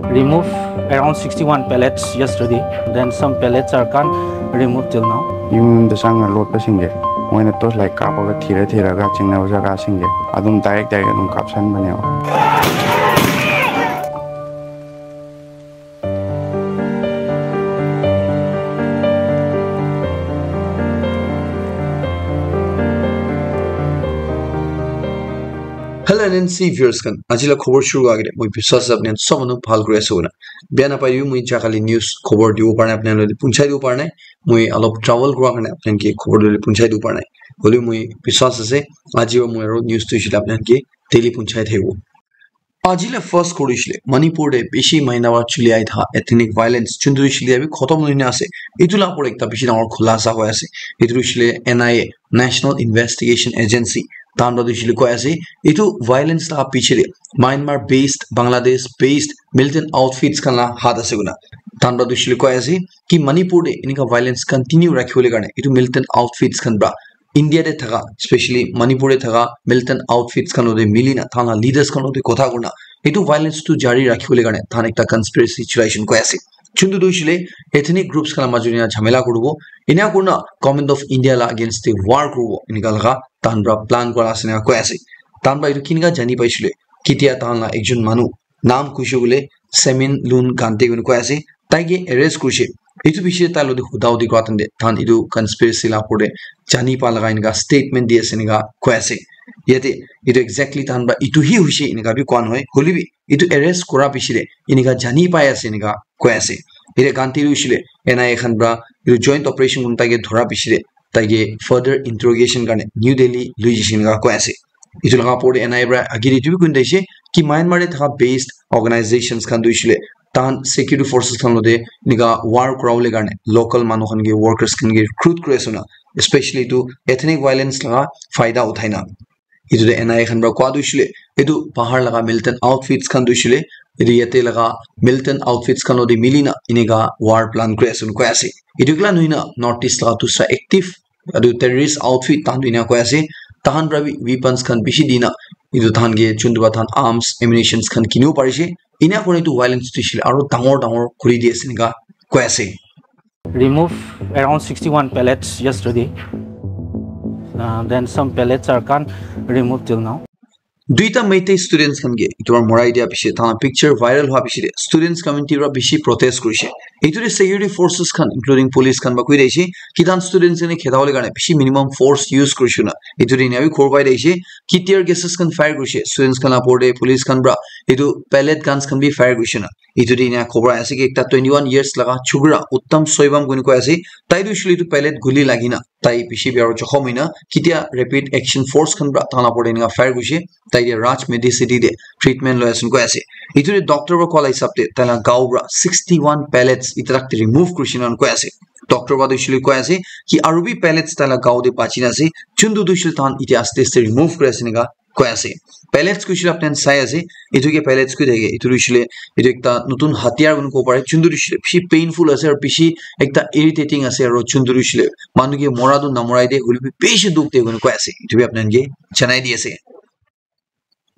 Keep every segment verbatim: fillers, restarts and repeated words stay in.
Remove around sixty-one pallets yesterday. Then some pallets are can't remove till now. Yung dasang nga lot pa singge. Mo na tos like kapa ka thira thira ka chingna usa ka singge. Adum direct direct adum kapsan banya. Hello N N C viewers khan, aji la khobor shuru kura agete moi biswas ase apni khan sob manu bhal kuri ase koina. Bia napai dibi, moi jagale news khobor dibo para nai, apni khan lode punchai dibo para nai. Moi alop travel kura karne apni khan ke khobor lode punchai dibo para nai. Holebi moi biswas ase aji wa moi aro news tu shile apni khan ke daily punchai thaibo. Aji la first khobor hoishe le, Manipur te bishi mahina para chuli ahi thakia ethnic violence chuntu hoishe le, abhi khotom hoi na ase. Etu la opor ekta bishi dangor khulasa hoi ase. Etu hoishe le N I A, National Investigation Agency, tahan para tu hoishe le koi ase. Etu violence la piche te Myanmar based, Bangladesh based militant outfits khan la hath ase koina. Tahan para tu hoishe le koi ase ki Manipur te enika violence continue rakhi bole karne etu militant outfits khan para India te thaka, especially Manipur te thaka militant outfits khan lode mili na, thahan la leaders khan lode kotha kurna, etu violence tu jari rakhi bole karne thahan ekta conspiracy chulai shun koi ase. Chuntu tu hoishe le ethnic groups khan la majot ena jhamela kuribo, ena kurna Government of India la against te war kuribo, enika laga thahan para plan kura ase na koi ase. Thahan para etu kinika jani paishe le, kitia thahan la ekjon manu, naam kuishe bole Semin Lun Gante koi ase, tai ke arrest kurishe. Etu bishi tai lode huda hudi kura time te thahan etu conspiracy la opor te jani pa laga enika statement di ase enika koi ase. Yate etu exactly thahan para etu hi hoishe enika bi koi nohoi. Holebi etu arrest kura bishi te enika jani pai ase enika koi ase. Yate Gante tu hoishe le N I A khan para etu joint operation kun tai ke dhura bishi te tai ke further interrogation karne New Delhi loi jaise enika koi ase. Etu laga opor te N I A para age te etu bi koi kena thaise ki Myanmar te thaka based organizations khan tu hoishe le thahan security forces khan lode enika war kura bole karne local manu khan ke, workers khan ke recruit kuri ase na, especially etu ethnic violence laga faida uthai na. Etu te N I A khan para koi tu hoishe le etu bahar laga militant outfits khan tu hoishe le etu yate laga militant outfits khan lode mili na enika war plan kuri ase koi ase. Etu kila nohoi na North East laga dusra active etu terrorist outfit thahan tu ena koi ase, thahan para bi weapons khan bishi di na, etu thahan ke chuntu para thahan arms, ammunitions khan kinibo parishe, ena kurina etu violence tu hoishe le aro dangor dangor kuri di ase enika koi ase. Remove around sixty-one pallets yesterday. Uh, then some pallets are can't remove till now. Duita Meitei students khan ke etu para morai dia piche, thahan picture viral hua piche te students community para bishi protest kurishe. Etu te security forces khan, including police khan para koi dise ki thahan students khan ke kheda bole karne bishi minimum force use kurishe na. Etu te ena bi khobor pai dise ki tear gases khan fire kurishe students khan la opor te, police khan para etu pellet guns khan bi fire kurishe na. Etu te ena khobor ase ki ekta twenty-one years laga chukra Uttam Soibam koi kena koi ase, tai tu hoishe le etu pellet guli lagi na tai bishi bia aro jokhom hoi na, kitia rapid action force khan para thahan la opor te enika fire kurishe, tai ke Raj Medicity te treatment loi ase koi ase. Etu te doctor para koa la hisab te tai la gao para sixty-one pallets etia tak te remove kurishe na koi ase. Doctor para tu hoishe le koi ase ki aru bi pallets tai la gao te bachi na ase, chuntu tu hoishe le thahan etia aste aste remove kuri ase enika koi ase. Pallets kuishe le apni khan sai ase, etu ke pallets koi thake, etu hoishe le etu ekta notun hatiyar koi kena kobo pare, chuntu hoishe le bishi painful ase aro bishi ekta irritating ase, aro chuntu hoishe le manu ke mora tu namorai de, hoilebi bishi dukh de koi kena koi ase, etu bi apni khan ke janai di ase.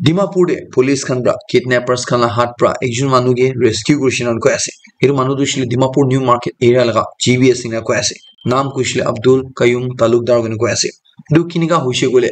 Dimapur te police khan para kidnappers khan la hath para ekjon manu ke rescue kurishe na koi ase. Etu manu tu hoishe le Dimapur New Market area laga G B S ena koi ase. Naam kuishe le Abdul Qayyum Talukdar koi kena koi ase. Etu kinika hoishe koile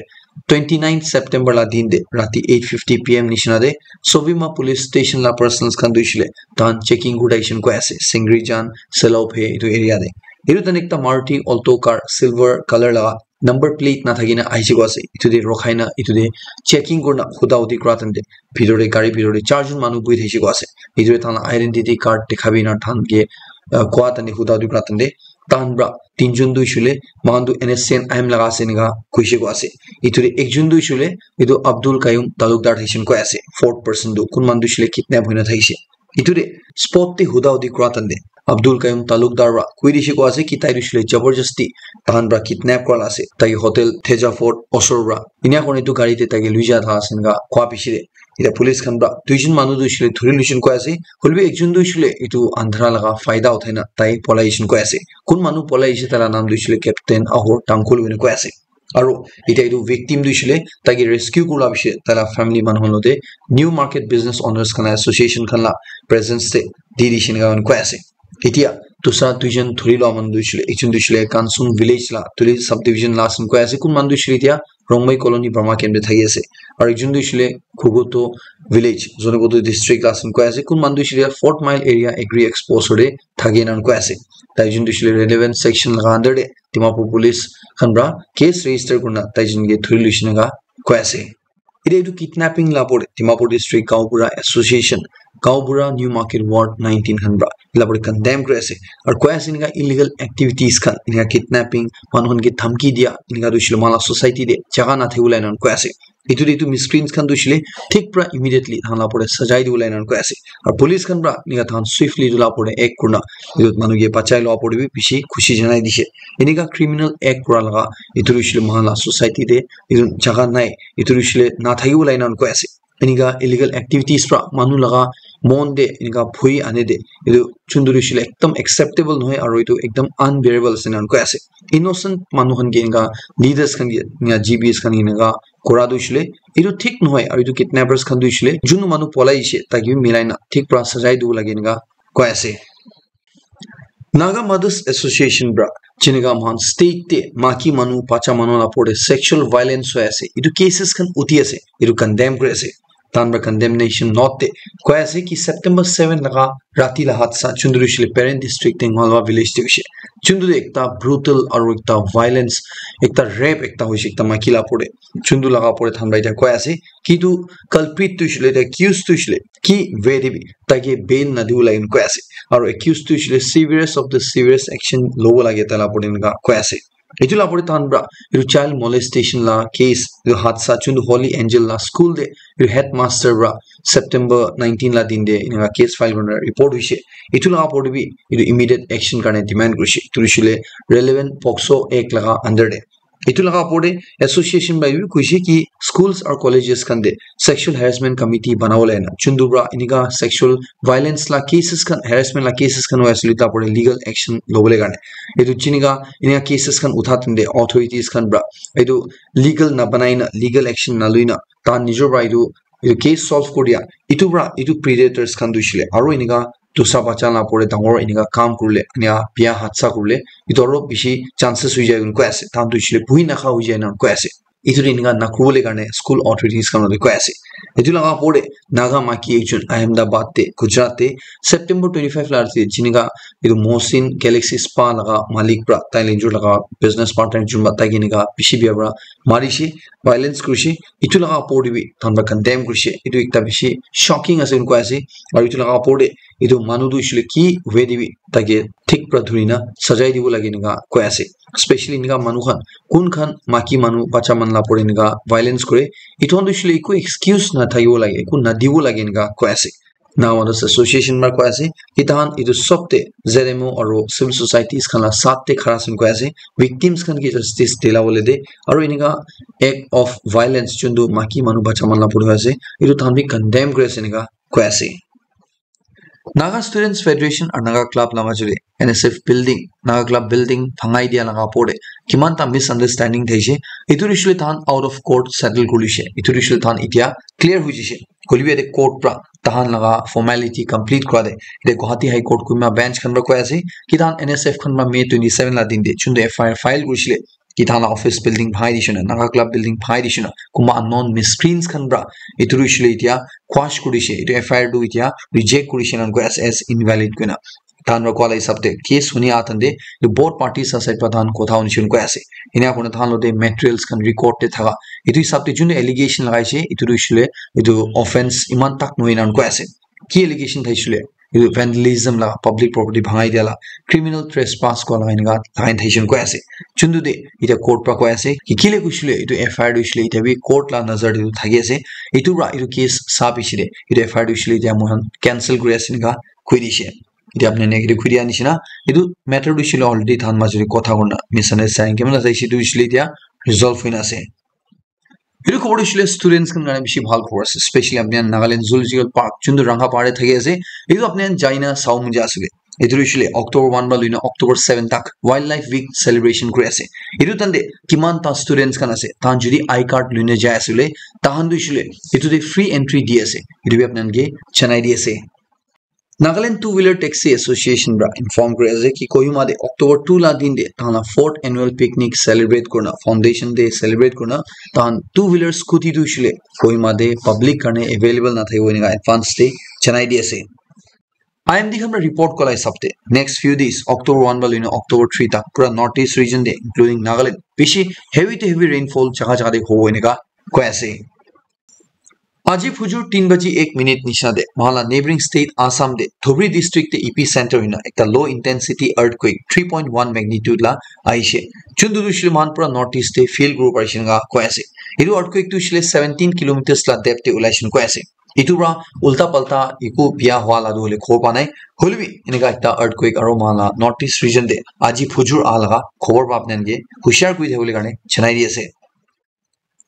twenty-nine September la din te rati eight fifty P M nishina te Sovima police station la personnel khan tu hoishe le thahan checking kuri thakishe koi ase, Singrijan, Selophe etu area te. Etu thahan ekta Maruti Alto car silver color laga number plate nathaki na ahise koi ase. Etu te rokhai na etu te checking kurina huda hudi kura time te bitor te gari bitor te charjon manu buhi thakishe koi ase. Etu te thahan la identity card dikhabi na thahan ke, ah, kua time te huda hudi kura time te thahan para tinjon tu hoishe le moikhan tu N S C N I M laga ase enika koishe koi ase. Etu te ekjon tu hoishe le etu Abdul Qayyum Talukdar thakishe koi ase. Fourth person tu kun manu tu hoishe le kidnap hoina thakishe. Etu te spot te huda hudi kura time te Abdul Qayyum Talukdar para koi dishe koi ase ki tai tu hoishe le jabardasti thahan para kidnap kura la ase. Tai ke hotel Theja Fort osor para ena kurina etu gari te tai ke loi ja thakan enika kua piche te Etia police khan para duijon manu tu hoishe le dhuri loishe koi ase, hoilebi ekjon tu hoishe le etu andhara laga faida uthai na tai polai ase koi ase. Kun manu polai ase tai la naam tu hoishe le Captain Ahor Tangkhul koi kena koi ase. Aro etiya etu victim tu hoishe le taike rescue kura la piche taila family manu khan logote New Market Business Owners khan la association khan la presence te di dishi enika koi ase. Etiya dusra duijon dhuri lua manu tu hoishe le, ekjon tu hoishe le Kansung village la Tuli subdivision la ase koi ase, kun manu tu hoishe le etiya Rongmei colony Burma camp te thaki ase, aro ekjon tu hoishe le Khuguto village Zunheboto district la ase koi ase, kun manu tu hoishe le Fort Mile area agri expo osor te thaki ena koi ase. Tai jun tu hoishe le relevant section laga under te Dimapur police khan pra case register kurina tai jun ke dhuri loishe enika koi ase. Etiya etu kidnapping la opor te Dimapur District Gaonbura Association, Gaonbura New Market Ward nineteen khan pra etu la opor te condemn kuri ase. Aro koi ase enika illegal activities khan, enika kidnapping, manu khan ke dhamki dia, enika tu hoishe le moikhan la society te jaga na thakibole enika koi ase. Etu te etu miscreants khan tu hoishe le thik pra immediately tahan la opor te sajai dibole enika koi ase. Aro police khan pra enika tahan swiftly etu la opor te act kurina etu manu ke bachai la opor te bi bishi khushi janai dishe. Enika criminal act kura laga etu tu hoishe le moikhan la society te etu jaga nai, etu tu hoishe le na thakibole enika koi ase. Enika illegal activities pra manu laga mon te enika bhoi ane te etu jun tu hoishe le ekdam acceptable nohoi aro etu ekdam unbearable ase enika koi ase. Innocent manu khan ke enika leaders khan ke enika G Bs khan ke enika kura tu hoishe le etu thik nohoi, aro etu kidnappers khan tu hoishe le jun manu polai she tai ke bi milai na thik pra sajai dibo lage enika koi ase. Naga Mothers Association pra jenika moikhan state te maiki manu, bacha manu la opor te sexual violence hoi ase, etu cases khan uthi ase, etu condemn kuri ase. Tahan pra condemnation note te koi ase ki September seven laga rati la hadsa jun tu hoishe le Peren district te Ngalwa village te hoishe. Jun tu ekta brutal aro ekta violence, ekta rape ekta hoishe ekta maiki la opor te. Jun tu laga opor te tahan pra etiya koi ase ki etu culprit tu hoishe le, etu accused tu hoishe le ki way te bi tai ke bail na dibo lage enika koi ase. Aro accused tu hoishe le severest of the severest action lobo lage tai la opor te enika koi ase. Etu la opor te tahan pra etu child molestation la case, etu hadsa jun tu Holy Angel la school te etu headmaster pra September nineteen la din te enika case file kurina report hoishe. Etu la opor te bi etu immediate action karne demand kurishe. Etu hoishe le relevant POCSO Act laga under te. Etu laga opor te association pra bi koishe ki schools or colleges khan te sexual harassment committee banabole na, jun tu pra enika sexual violence la cases khan, harassment la cases khan hoi ase le, ta opor te legal action lobole karne. Etu jenika enika cases khan utha tente authorities khan pra etu legal na banai na, legal action na lui na, tahan nijor pra etu, etu case solve kuri dia, etu pra etu predators khan tu hoishe le aro enika dusra bacha la opor te dangor enika kam kurile, enika biya hadsa kurile, etu aro bishi chances hoi jai enika koi ase. Tahan tu hoishe le buhi nakha hoi jai enika koi ase. Etu te enika nakuribole karne school authorities khan logote koi ase. Etu laga opor te Naga maiki ekjon Ahmedabad te, Gujarat te, September twenty five la ase, jenika etu Mohsin Galaxy Spa laga malik pra tai le jun laga business partner jun pra tai ke enika bishi biya pra marishe, violence kurishe. Etu laga opor te bi tahan pra condemn kurishe. Etu ekta bishi shocking ase enika koi ase. Aro etu laga opor te etu manu tu hoishe le ki way te bi tai ke thik pra dhuri na sajai dibo lage enika koi ase. Especially enika manu khan, kun khan maiki manu, bacha manu la opor te enika violence kure, etu khan tu hoishe le eku excuse na thakibo lage, eku na dibo lage enika koi ase. Naga Mothers Association pra koi ase ki tahan etu sob te Z M O aro civil societies khan la saath te khara ase enika koi ase. Victims khan ke justice dila bole te aro enika act of violence jun tu maiki manu, bacha manu la opor te ase, etu tahan bi condemn kuri ase enika koi ase. Naga Students Federation aru Naga Club la majot te N S F building, Naga Club building bhangai dia laga opor te kiman ta misunderstanding thaise. Etu hoishe le tahan out of court settle kuri loise. Etu hoishe le tahan etia clear hoi jaise. Hoilebi yate court pra tahan laga formality complete kura de, yate Guwahati High Court kunba bench khan pra koi ase ki tahan N S F khan pra May twenty seven la din te juntu F I R file kurishe le ki tahan la office building bhai dishe na, Naga Club building bhai dishe na, kunba unknown miscreants khan pra etu hoishe le etia quash kurishe, etu F I R tu etia reject kurishe na koi ase as invalid koina. Tahan pra koa la hisab te case huni atan te etu both parties la side pra tahan kotha huni shuni koi ase. Enia kurina tahan logote materials khan record te thaka, etu hisab te juntu allegation lagaishe, etu tu hoishe le etu offence eman tak nohoi ena koi ase. Ki allegation thaishe le, etu vandalism la, public property bhangai dia la, criminal trespass kua la, enika lagai thaishe koi ase. Juntu te etia court pra koi ase ki kile koishe le etu F I R tu hoishe le etia bi court la nazar te tu thaki ase. Etu pra etu case sa piche te etu F I R tu hoishe le etia moikhan cancel kuri ase enika koi dishe. Etia apni khan ke etu koi dia nishina, etu matter tu hoishe le already tahan majot te kotha kurina misunderstanding kiman ase, etu hoishe le etia resolve hoina ase. Etu khobor tu hoishe le students khan karne bishi bhal khobor ase, especially apni khan Nagaland Zoological Park juntu Rangapara te thaki ase, etu apni khan jaina sao moja ase le. Etu tu hoishe le October one para loina October seven tak Wildlife Week celebration kuri ase. Etu time te kiman ta students khan ase, tahan jodi I card loina jai ase le, tahan tu hoishe le etu te free entry di ase. Etu bi apni khan ke janai di ase. Nagaland Two Wheeler Taxi Association para inform kuri ase ki Kohima te October two la din te tahan la fourth annual picnic celebrate kurina, foundation day celebrate kurina, tahan two wheeler scooty tu hoishe le Kohima te public karne available na thakibo enika advance te janai di ase. I M D khan para report kola hisab te next few days, October one para loina October three tak pura North East region te, including Nagaland, bishi heavy to heavy rainfall jaga jaga te hobo enika koi ase. Aji phujur tin baji ek minute nisna te, mohan la neighboring state Assam te, Dhubri district te epicenter hoina ekta low intensity earthquake three point one magnitude la ahishe. Chundu tu hoishe le mohan pura North East te feel kuribo parishe enika koi ase. Etu earthquake tu hoishe le seventeen kilometers la depth te ulaishe enika koi ase. Etu para ulta palta eku bia hua la tu hoile khobor pa nai. Hoile bi enika ekta earthquake aro mohan la North East region te aji phujur aha laga khobor pa apni khan ke hushar kuri thabole karne janai di ase.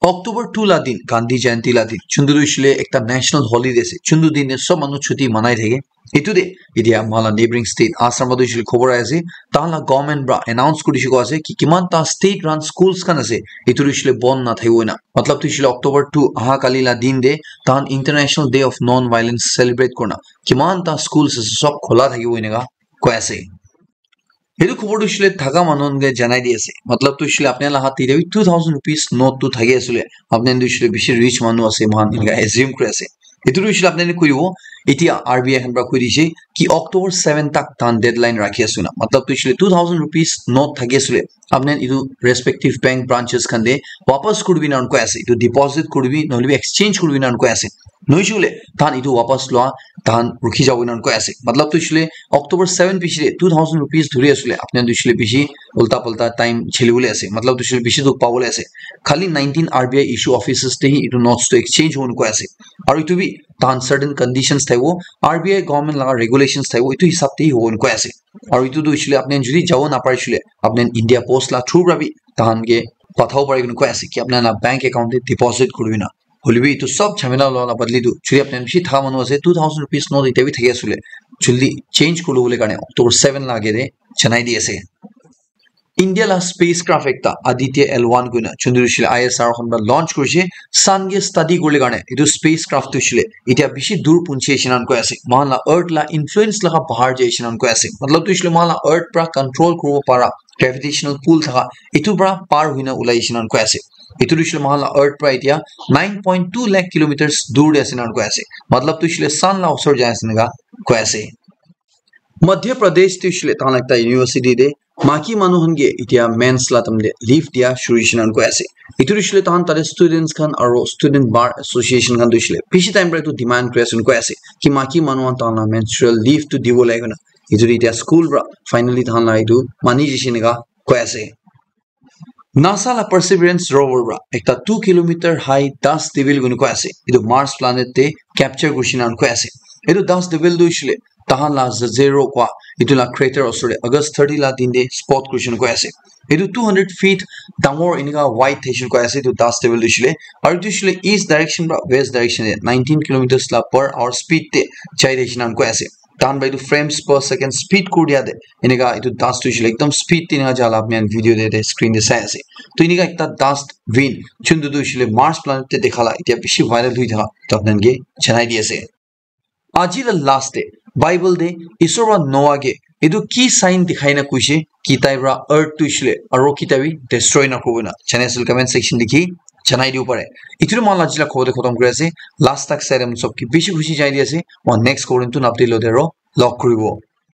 October two la din, Gandhi Jayanti la din, chundu tu hoishe le ekta national holiday ase. Chundu din te sob manu chuti manai thake. Etu te, etia mohan la neighboring state Assam tu hoishe le khobor ahi ase, tahan la government para announce kuri dishe koi ase ki kiman ta state run schools khan ase, etu tu hoishe le bon na thakibo enika. Matlab tu hoishe le October two aha kali la din te, tahan International Day of Non-Violence celebrate kurina, kiman ta schools ase sob khola thakibo enika koi ase. Etu khobor tu hoishe le thaka manu khan ke janai di ase. Matlab tu hoishe le apni khan la hath te bi two thousand rupees note tu thaki ase le, apni khan tu hoishe le bishi rich manu ase, mohan enika assume kuri ase. Etu tu hoishe le apni khan kuribo, etia R B I khan para koi dishe ki October seven tak tahan deadline rakhi ase na. Matlab tu hoishe le two thousand rupees note thaki ase le, apni khan etu respective bank branches khan te wapas kuribi enika koi ase. Etu deposit kuribi, nohoile bi exchange kuribi enika koi ase. Nohoishe le, tahan etu wapas lua, tahan rukhi jabo enika koi ase. Matlab tu hoishe le, October seven piche te two thousand rupees dhuri ase le, apni khan tu hoishe le bishi ulta palta time cheli bole ase. Matlab tu hoishe le bishi dukh pabole ase. Khali nineteen R B I issue offices te hi etu notes tu exchange hobo enika koi ase. Aru etu bi tahan certain conditions thakibo, R B I government laga regulations thakibo, etu hisab te hi hobo enika koi ase. Aru etu tu hoishe le apni khan jodi jabo naparishe le, apni khan India Post la through para bi tahan ke pathabo pari enika koi ase ki apni khan la bank account te deposit kuribi enika. Hoile bi etu sob jhamela lua la badli tu, jodi apni khan bishi thaka manu ase, two thousand rupees note etia bi thaki ase le, jaldi change kuri lobole karne October seven la age te janai di ase. India la spacecraft ekta Aditya L one koina, chundu tu hoishe le I S R khan para launch kurishe, sun ke study kuribole karne. Etu spacecraft tu hoishe le etia bishi dur punchi ase enika koi ase. Mohan la earth la influence laga bahar jai ase enika koi ase. Matlab tu hoishe le mohan la earth para control kuribo para gravitational pull thaka, etu para par hoina ulai ase enika koi ase. Etu tu hoishe le mohan la earth para etia nine point two lakh kilometers dur te ase enika koi ase. Matlab tu hoishe le sun la osor jai ase enika koi ase. Madhya Pradesh tu hoishe le tahan la ekta university te maki manu khan ke etia mains la time te leave dia shuru hoishe enika koi ase. Etu tu hoishe le tahan tate students khan aro student bar association khan tu hoishe le bishi time para etu demand kuri ase enika koi ase ki maki manu khan tahan la menstrual leave tu dibo lage koina. Etu tu etia school para finally tahan la etu mani jaise enika koi ase. NASA la Perseverance rover para ekta two kilometer high dust devil koina koi ase. Etu Mars planet te capture kurishe enika koi ase. Etu dust devil tu hoishe le tahan la Zero koi etu la crater osor te August thirty la din te spot kurishe enika koi ase. Etu two hundred feet dangor enika wide thaishe enika koi ase etu dust devil tu hoishe le. Aru etu hoishe le east direction para west direction te nineteen kilometers la per hour speed te jai thaishe enika koi ase. Tahan para etu frames per second speed kuri dia te enika etu dust tu hoishe le ekdum speed te enika jala apni khan video te, te screen te sai ase. To enika ekta dust wind chundu tu hoishe le Mars planet te dekha la etia bishi viral hoi thaka to apni khan ke janai di ase. Aji la last te Bible te Isor para Noah ke etu ki sign dikhai na koishe ki tai para earth tu hoishe le aro kita bi destroy na kuribo enika. Channel comment section likhi janai dibo pare. Etu tu mohan la aji la khobor te khotom kuri ase. Last tak sai le sob ke bishi khushi janai di ase. Mohan next khobor te notun update logote aro log kuribo.